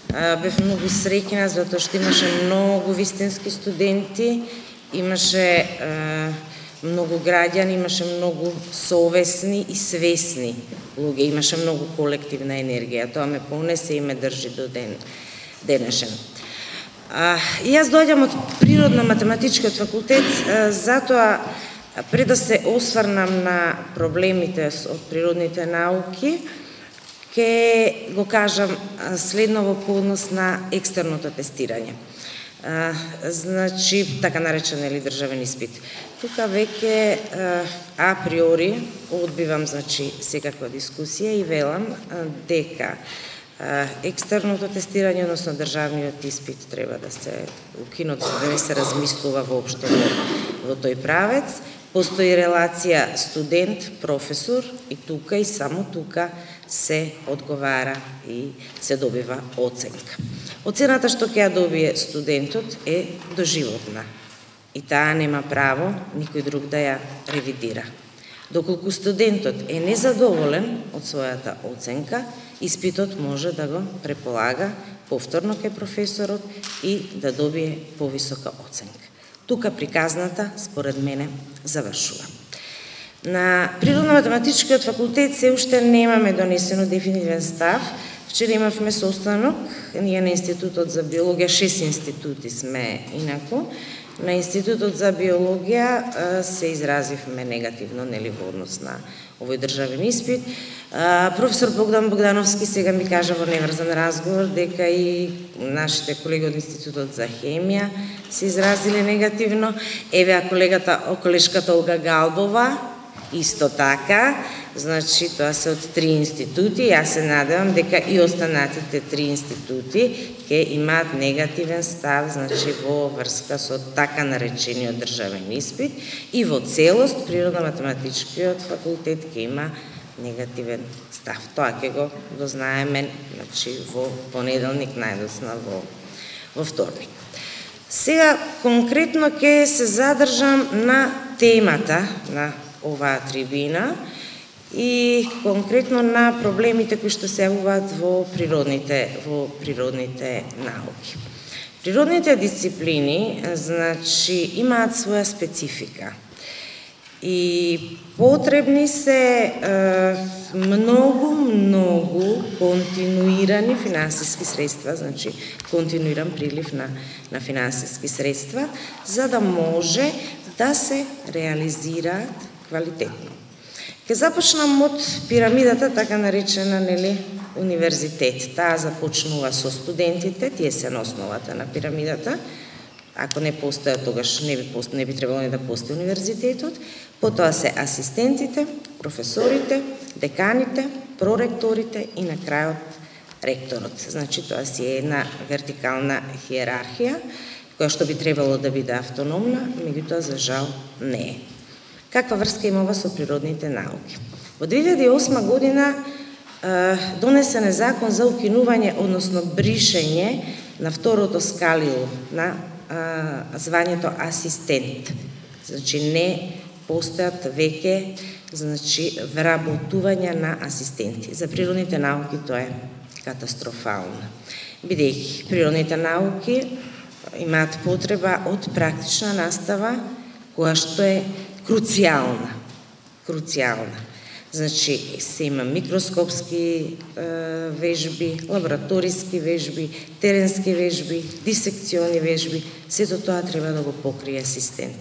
Бев многу среќна затоа што имаше многу вистински студенти, имаше многу граѓани, имаше многу совесни и свесни луѓе, имаше многу колективна енергија. Тоа ме понесе и ме држи до денешен. И јас доаѓам од природно-математичкиот факултет, затоа пред да се осврнам на проблемите од природните науки, ќе го кажам следно во однос на екстерното тестирање. Значи, така наречен државен испит. Тука веќе априори одбивам секаква дискусија и велам дека екстерното тестирање, односно државниот испит, треба да се укинат, да не се размислува воопшто во тој правец. Постои релација студент-професор и тука и само тука се одговара и се добива оценка. Оцената што ќе ја добие студентот е доживотна и таа нема право никој друг да ја ревидира. Доколку студентот е незадоволен од својата оценка, испитот може да го преполага повторно кај професорот и да добие повисока оценка. Тука приказната, според мене, завршува. На Природно-математичкиот факултет се уште немаме донесено дефинитивен став. Вчера имавме состанок, ние на Институтот за биологија, 6 институти сме инаку. На Институтот за биологија се изразивме негативно, нели, во однос на овој државен испит. Професор Богдан Богдановски сега ми кажа во неврзан разговор дека и нашите колеги од Институтот за хемија се изразиле негативно. Еве, колегата, колешката Олга Галбова, исто така. Значи, тоа се од 3 институти. Јас се надевам дека и останатите 3 институти ќе имаат негативен став, значи, во врска со така наречениот државен испит и во целост Природно-математичкиот факултет ќе има негативен став. Тоа ќе го дознаеме, значи, во понеделник, најдосна во вторник. Сега конкретно ќе се задржам на темата на оваа трибина и конкретно на проблемите кои што се јавуваат во природните науки. Природните дисциплини, значи, имаат своја специфика и потребни се многу континуирани финансиски средства, значи континуиран прилив на финансиски средства, за да може да се реализираат квалитетно. Ке започнам од пирамидата, така наречена, нели, универзитет. Таа започнува со студентите, тие се на основата на пирамидата. Ако не постојат, тогаш не би требало ни да постои универзитетот. Потоа се асистентите, професорите, деканите, проректорите и на крајот ректорот. Значи, тоа си е една вертикална хиерархија, која што би требало да биде автономна, меѓутоа за жал не е. Каква врска има ова со природните науки? Во 2008 година донесен е закон за укинување, односно бришење на второто скалило на звањето асистент. Значи, не постојат веќе, значи, вработувања на асистенти. За природните науки тоа е катастрофално. Бидејќи природните науки имаат потреба од практична настава, која што е круцијална. Значи, се има микроскопски вежби, лабораториски вежби, теренски вежби, дисекциони вежби, сето тоа треба да го покрие асистент.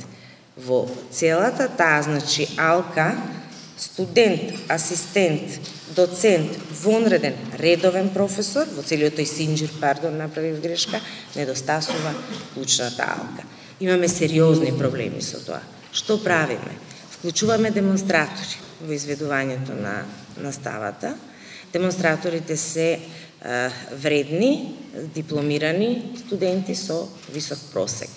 Во целата таа, значи, алка, студент, асистент, доцент, вонреден, редовен професор, во целиот тој синџир, направив грешка, недостасува клучната алка. Имаме сериозни проблеми со тоа. Што правиме? Вклучуваме демонстратори во изведувањето на наставата. Демонстраторите се вредни, дипломирани студенти со висок просек.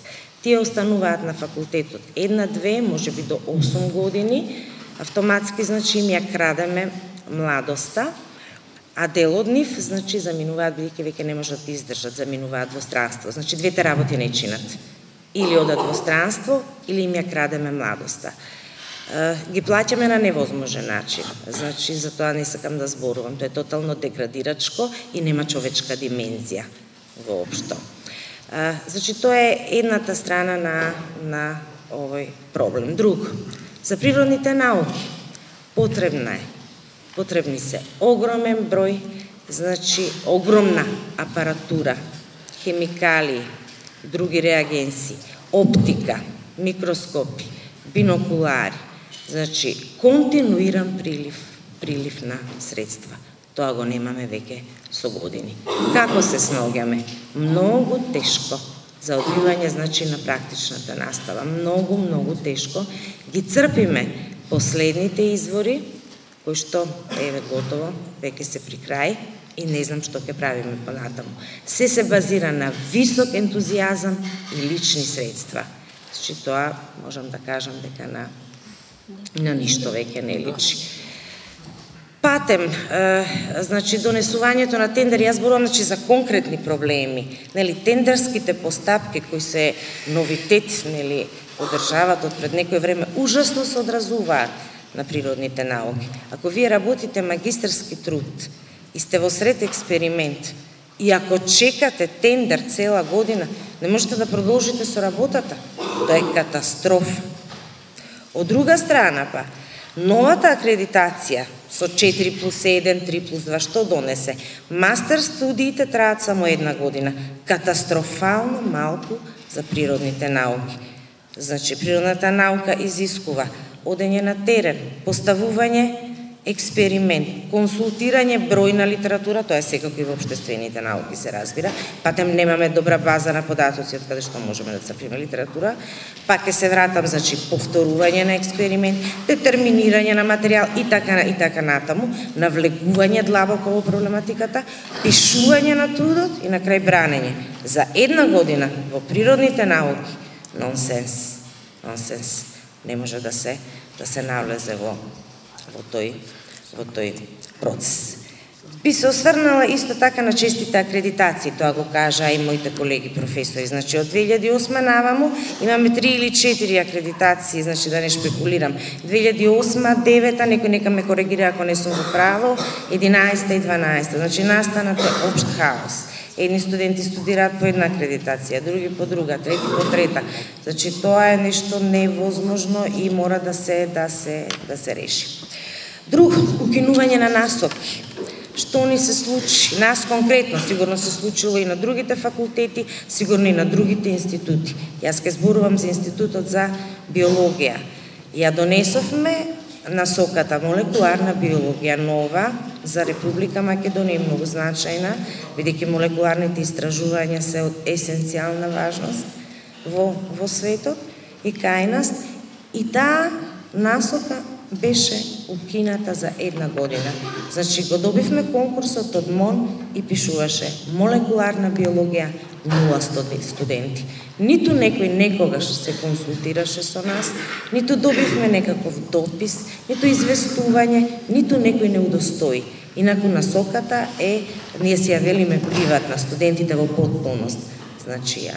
Тие остануваат на факултетот 1-2, можеби до 8 години. Автоматски, значи, им ја крадеме младоста, а дел од нив, значи, заминуваат, бидејќи веќе не можат да издржат, заминуваат во странство. Значи, двете работи не чинат. Или одат во странство, или им ја крадеме младоста. ги плаќаме на невозможен начин. Значи, за тоа не сакам да зборувам. Тоа е тотално деградирачко и нема човечка димензија воопшто. Значи, тоа е едната страна на овој проблем. Друг, за природните науки потребни се огромен број, значи огромна апаратура, хемикалии, други реагенси, оптика, микроскопи, бинокулари, значи континуиран прилив на средства. Тоа го немаме веќе со години. Како се снаоѓаме? Многу тешко за одвивање, значи, на практичната настава. Многу тешко. Ги црпиме последните извори, кои што, еве, готово, веќе се при крај и не знам што ќе правиме понатаму. Се базира на висок ентузијазам и лични средства. Значи, тоа можам да кажам дека на ништо веќе не личи. Патем, значи, донесувањето на тендери, јас зборувам, значи, за конкретни проблеми. Нели, тендерските постапки кои се новитет, нели, од државата од пред некој време, ужасно се одразуваат на природните науки. Ако вие работите магистерски труд и сте во сред експеримент, и ако чекате тендер цела година, не можете да продолжите со работата. Тоа е катастрофа. Од друга страна, па, новата акредитација со 4+1, 3+2, што донесе? Мастер студиите траат само 1 година. Катастрофално малку за природните науки. Значи, природната наука изискува одење на терен, поставување експеримент, консултирање бројна литература, тоа е секако и во општествените науки се разбира, патем немаме добра база на податоци од каде што можеме да црпиме литература, пак ќе се вратам, значи, повторување на експеримент, детерминирање на материјал и така натаму, навлегување длабоко во проблематиката, пишување на трудот и на крај бранење. За 1 година во природните науки, нонсенс. Не може да се навлезе во тој процес. Би се осврнала исто така на честите акредитации, тоа го кажа и моите колеги професори. Значи, од 2008 наваму имаме 3 или 4 акредитации, значи да не шпекулирам. 2008, 2009, некој нека ме коригира ако не сум во право, 11 и 12. Значи, настанат е општ хаос. Едни студенти студираат по една акредитација, други по друга, трети по трета. Значи, тоа е нешто невозможно и мора да се реши. Друг, укинување на насоки. Што ни се случи? Нас конкретно, сигурно се случило и на другите факултети, сигурно и на другите институти. Јас ке зборувам за Институтот за биологија. Ја донесовме насоката молекуларна биологија нова за Република Македонија, многу значајна, бидејќи молекуларните истражувања се од есенцијална важност во светот и кај нас, и таа насока беше укината за 1 година. Значи, го добивме конкурсот од МОН и пишуваше молекуларна биологија 0 студенти. Ниту некој некогаш се консултираше со нас, ниту добивме некаков допис, ниту известување, ниту некој не удостои. Инаку насоката е, ние си ја велиме приватна, студентите во потполност, значи ја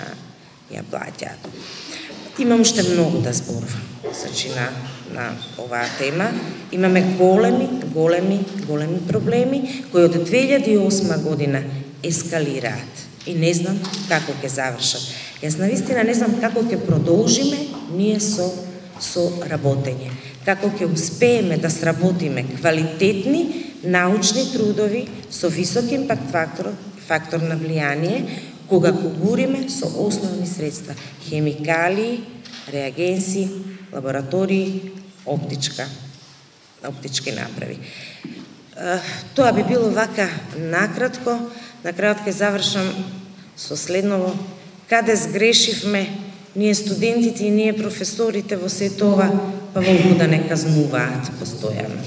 плаќаат. Имам уште многу да зборувам, значи на оваа тема. Имаме големи проблеми кои од 2008 година ескалираат и не знам како ќе завршат. Јас навистина не знам како ќе продолжиме ние со работење, како ќе успееме да сработиме квалитетни научни трудови со висок импакт фактор на влијание, кога го буриме со основни средства: хемикалии, реагенси, лаборатории, оптички направи. Тоа би било вака накратко. На крајот ќе завршам со следново: каде сгрешивме ние студентите и ние професорите во сето ова, па волку да не казнуваат постојано.